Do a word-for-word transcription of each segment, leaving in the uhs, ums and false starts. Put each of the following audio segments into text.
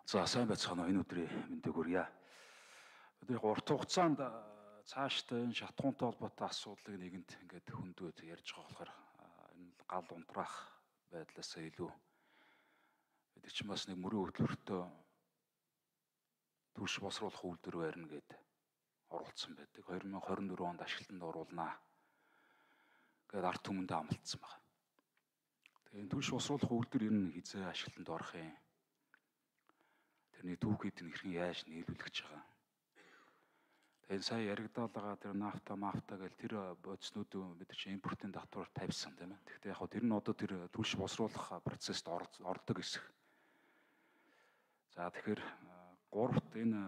За сайн байцгаана уу, энэ өдрийн мэндийг хүргье. Өдрийн урт хугацаанд цаашдаа энэ шатхуунтай холбоотой асуудлыг нэгэнт ингээд хөндөөд ярьж байгаа болохоор энэ гал унтраах байдлаас илүү бид чинь бас нэг мөрийн хөтөлбөртөө түлш босруулах үйлдвэр барина гэд оролцсон байдаг. хоёр мың хорин дөрөв онд ашиглалтанд оруулнаа гэд ард түмэндээ амлалтсан байна. Тэгээ энэ түлш босруулах үйлдвэр ер нь хизээ ашиглалтанд орох юм. Тэрний түүхийд нь хэрхэн яаж нийлүүлэх гэж байгаа. Тэгээд сая яригдаад байгаа тэр нафта мафта гэл тэр бодиснууд бид чинь импортын татвар тавьсан тийм ээ. Гэхдээ яг хөө тэр нь одоо тэр түлш босруулах процессд ордог хэсэг. За тэгэхээр гуравт энэ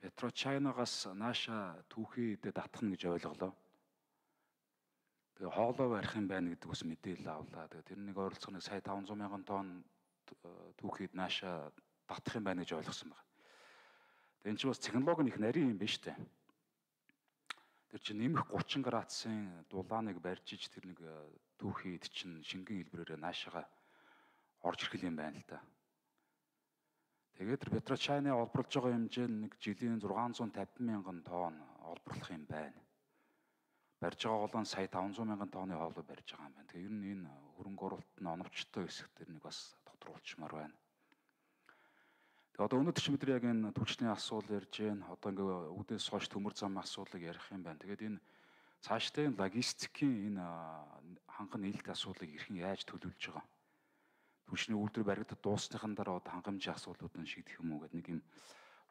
Петрочайнагаас нааша түүхийдээ татахна гэж ойлголоо. Тэгээ хоолой барих юм байна гэдэг бас мэдээлэл авлаа. Тэгээ тэр нэг ойролцоогоо сая таван зуун мянган тонн түүхийд нааша татах юм байна гэж ойлгосон байна. Тэгээ энэ чинь бас технологи нь их нарийн юм биш үү? Тэр чинь нэмэх гучин градусын дулааныг барьж иж тэр нэг түүхийд чинь шингэн хэлбэрээр наашаага орж ирэх юм байна л да. Тэгээд тэр Петрочайны олборлож байгаа хэмжээ нь нэг жилийн зургаан зуун тавин мянган тонн олборлох юм байна. Барьж байгаа голон сая таван зуун мянган тонны хоолой барьж байгаа юм байна. Тэгээ ер нь энэ хөрөнгө оруулалт нь оновчтой хэсэг тэр нэг бас тодруулчмаар байна. Тэгээ одоо өнөөдөр чи бид яг энэ түлшний асуудал ярьж байна. Одоо ингээ үүдээс хойш төмөр замын асуудлыг ярих юм байна. Тэгээд энэ цаашдаа энэ логистикийн энэ ханган нээлт асуудлыг хэрхэн яаж төлөвлөж байгаа. Түлшний үйлдвэр баригдад дуусныхан дараа одоо хангамжийн асуудлуудыг шийдэх юм уу гэдэг нэг юм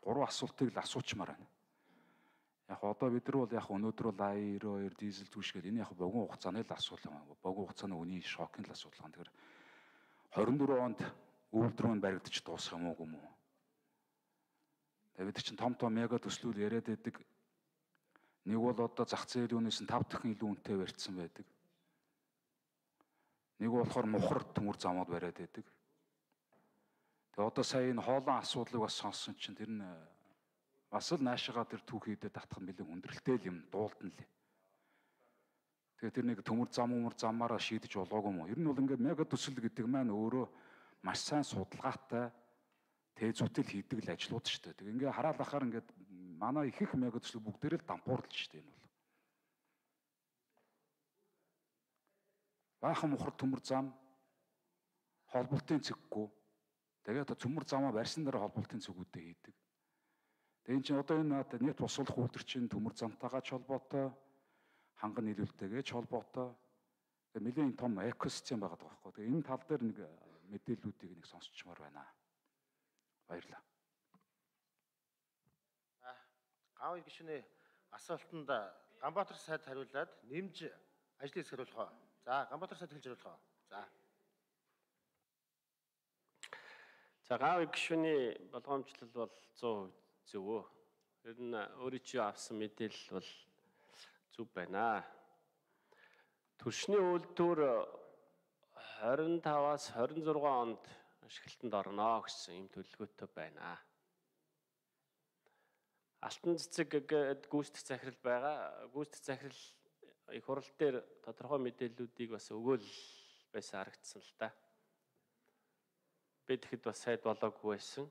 гурван асуултыг л асуучмаар байна. Яг одоо бид нар бол яг өнөөдөр бол А девяносто хоёр дизель түлш гэдэг энэ яг богино хугацааны л асуудал юм. Богино хугацааны үнийн шокын л асуудал гэнэ. Тэгэхээр хорин дөрөв онд үйлдвэр нь баригдаж дуусах юм уу юм уу? Тэгээд бид чинь том том мега төслүүд яриад байдаг. Нэг бол одоо зах зээлийн үнээс нь тав дахин илүү үнэтэй барьцсан байдаг. Нэг болохоор мухар төмөр замууд бариад байдаг. Тэгээ одоо сая энэ хоолон асуудлыг бас сонссон чинь тэр нь бас л наашаага тэр түүхийдээ татах нь бэлэн хүндрэлтэй юм дуулдан лээ. Тэгээ тэр нэг төмөр зам өмөр замаараа шийдэж болоогүй юм уу? Ер нь бол ингээд мега төсөл гэдэг маань өөрөө маш сайн судалгаатай тээзүүтэл хийдэг л ажлууд шүү дээ. Тэгээ ингээ хараал ахаар ингээд манай их их мега төсөл бүгдээрээ л дампуурлаж шүү дээ энэ бол. Баахан мухар төмөр зам холболтын цэггүй. Тэгээд одоо төмөр замаа барьсан дараа холболтын цэгүүдээ хийдэг. Тэгээ энэ чинь одоо энэ нийт босуулах үйлдвэр чинь төмөр замтайгаа ч холбоотой, ханган нийлүүлэлтэйгээ ч холбоотой. Тэгээ нэлийн том экосистем байгаа байхгүй. Тэгээ энэ тал дээр нэг мэдээллүүдийг нэг сонсчмаар байна. Баярлалаа. За, Гавь гишүүний асуултанд Ганбаатар сайд хариулаад нэмж ажлыг сэрүүлэх. За, Ганбаатар сайд хэлж хариулах. За. За, Гавь гишүүний болгоомжлол бол зуун зөв өө. Ер нь өөрөө чи авсан мэдээлэл бол зөв байна. Түлшний үйлдвэр хорин таваас хорин зургаан онд ашиглалтанд орно гэсэн юм төлөвлөгөөтэй байна. Алтан цэцэг гээд гүйцэтгэх захирал байгаа. Гүйцэтгэх захирал их хурал дээр тодорхой мэдээллүүдийг бас өгөөл байсан харагдсан л да. Би тэгэхэд бас сайд болоогүй байсан.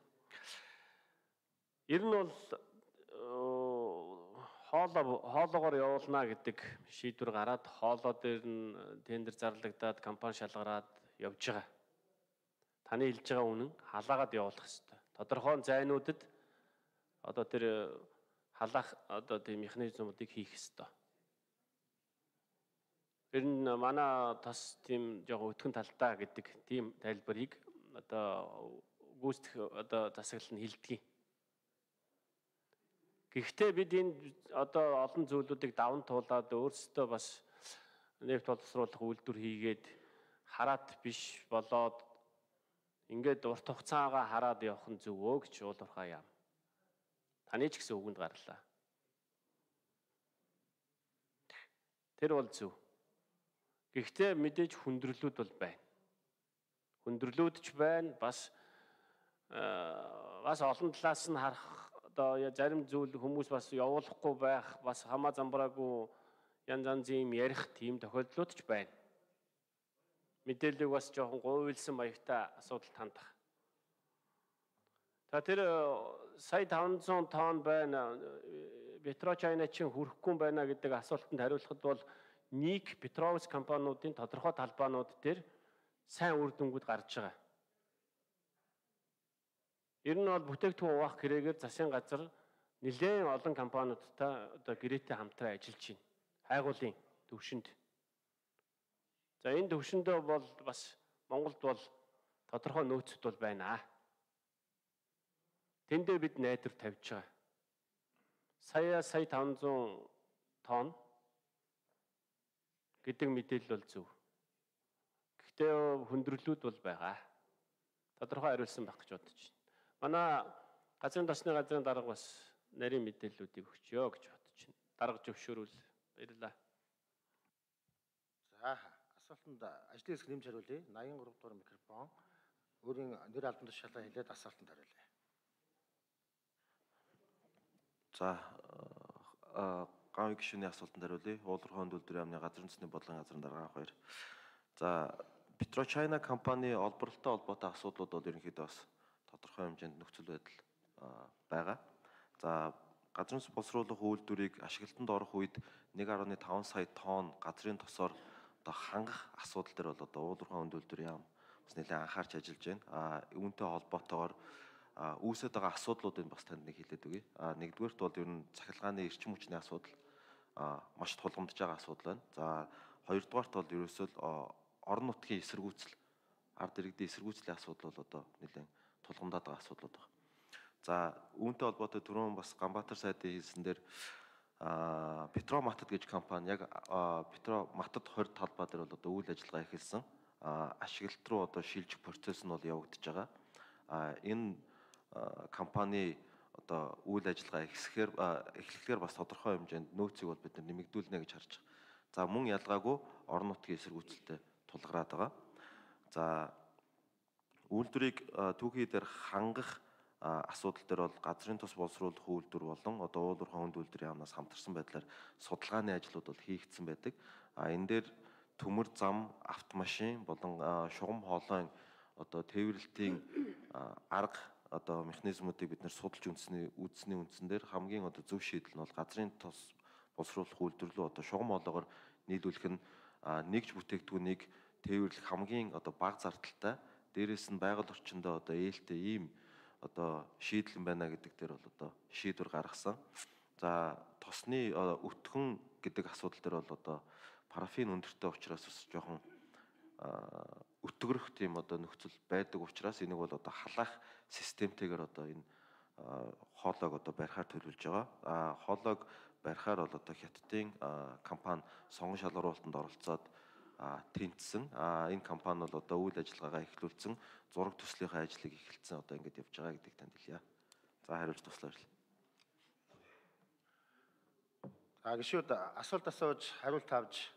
Ер нь бол хоолоо хоолоогоор явуулна гэдэг шийдвэр гараад хоолоо дээр нь тендер зарлагдаад компани шалгараад явж байгаа. Таны хэлж байгаа үнэн халаагаад явуулах хэрэгтэй. Тодорхой зайнуудад одоо тэр халаах одоо тийм механизмуудыг хийх хэрэгтэй. Тэр нь манай тас тийм жоохон өтгөн талтай гэдэг тийм тайлбарыг одоо гүйцэтгэх одоо засаглал нь хэлдэг. Гэхдээ бид энэ одоо олон зүйлүүдийг даван туулаад өөрсдөө бас нефт боловсруулах үйлдвэр хийгээд хараат биш болоод ингээд урт хугацаагаа хараад явах нь зөв өө гэж уулуурхаа юм. Таны ч гэсэн үгэнд гарлаа. Тэр бол зөв. Гэхдээ мэдээж хүндрэлүүд бол байна. Хүндрэлүүд ч байна, бас бас олон талаас нь харах одоо зарим зүйл хүмүүс бас явуулахгүй байх, бас хамаа замбраагүй янз янзын ярих тийм тохиолдлууд ч байна. Мэдээллийг бас жоохон говьлсан маягтай асуудалд хандах. За тэр сая таван зуун тонн байна. Петрочайна чинь хүрэхгүй байна гэдэг асуултанд хариулахад бол нэг Петровс компаниудын тодорхой талбаанууд дээр сайн үр дүнгууд гарч байгаа. Ер нь бол бүтээгдэхүүн хуваах гэрээгээр засгийн газар нэлээд олон компаниудтай одоо гэрээтэй хамтран ажиллаж байна. Хайгуулын төвшөнд. За энэ төвшөндөө бол бас Монголд бол тодорхой нөөцүүд бол байна. Тэндээ бид найдвар тавьж байгаа. Сая сая таван зуун тонн гэдэг мэдээлэл бол зөв. Гэхдээ хүндрэлүүд бол байгаа. Тодорхой хариулсан байх гэж бодож байна. Манай газрын тосны газрын дарга бас нарийн мэдээллүүдийг өгчөө гэж бодож байна. Дарга зөвшөөрвөл баярлалаа. За асуултанд ажлын хэсэг нэмж хариулъя. найман гурав дугаар микрофон. Өөрийн нэр албан тушаалаа хэлээд асуултанд хариулъя. За гавь гишүүний асуултанд хариулъя. Уулуурхай үйлдвэрийн яамны газрын төсний бодлогын газрын дарга анх баяр. За Петрочайна компани олборлолтой холбоотой асуудлууд бол ерөнхийдөө бас тодорхой хэмжээнд нөхцөл байдал байгаа. За газрын боловсруулах үйлдвэрийг ашиглалтанд орох үед нэг гаруй таван сая тонн газрын тосоор одоо хангах асуудал дээр бол одоо уулуурхай үйлдвэрийн яам бас нэлээд анхаарч ажиллаж байна. А үүнтэй холбоотойгоор үүсэж байгаа асуудлуудыг бас танд нэг хэлээд өгье. А нэгдүгээрт бол ер нь цахилгааны эрчим хүчний асуудал маш тулгамдж байгаа асуудал байна. За хоёрдугаарт бол ерөөсөө орон нутгийн эсэргүүцэл, ард иргэдийн эсэргүүцлийн асуудал бол одоо нэлээд тулгамдаад байгаа асуудлууд байна. За үүнтэй холбоотой түрүүн бас Ганбаатар сайдын хэлсэн дээр Петроматад гэж компани яг Петроматад хорь талбай дээр бол одоо үйл ажиллагаа эхэлсэн. Ашиглалт руу одоо шилжих процесс нь бол явагдаж байгаа. Энэ компани одоо үйл ажиллагаа эхлэхээр эхлэхээр бас тодорхой хэмжээнд нөөцийг бол бид нэмэгдүүлнэ гэж харж байгаа. За мөн ялгаагүй орон нутгийн эсэргүүцэлтэй тулгараад байгаа. За үйлдвэрийг түүхий дээр хангах асуудал дээр бол газрын тос боловсруулах үйлдвэр болон одоо уулуурхай үйлдвэрийн яамнаас хамтарсан байдлаар судалгааны ажлууд бол хийгдсэн байдаг. А энэ дээр төмөр зам, автомашин болон шугам хоолойн одоо тээвэрлэлтийн арга одоо механизмуудыг бид нэр судалж үндэсний үдсний үндсэн дээр хамгийн одоо зөв шийдэл нь бол газрын тос боловсруулах үйлдвэрлэлөө одоо шугам хоолойгоор нийлүүлэх нь нэгж бүтээгдэхүүнийг тээвэрлэх хамгийн одоо бага зардалтай, дээрээс нь байгаль орчиндөө одоо ээлтэй ийм одоо шийдэл байна гэдэг дээр бол одоо шийдвэр гаргасан. За тосны өтгөн гэдэг асуудал дээр бол одоо парафин өндөртэй учраас бас жоохон өтгөрөх тийм одоо нөхцөл байдаг учраас энийг бол одоо халаах системтэйгээр одоо энэ хоолойг одоо барихаар төлөвлөж байгаа. А хоолойг барихаар бол одоо хятадын компани сонгон шалгаруулалтанд оролцоод тэнцсэн. А энэ компани бол одоо үйл ажиллагаагаа эхлүүлсэн, зураг төслийнхээ ажлыг эхэлсэн одоо ингэж явж байгаа гэдгийг танд хэлье. За хариулж туслаа. А гишүүд асуулт асууж хариулт авч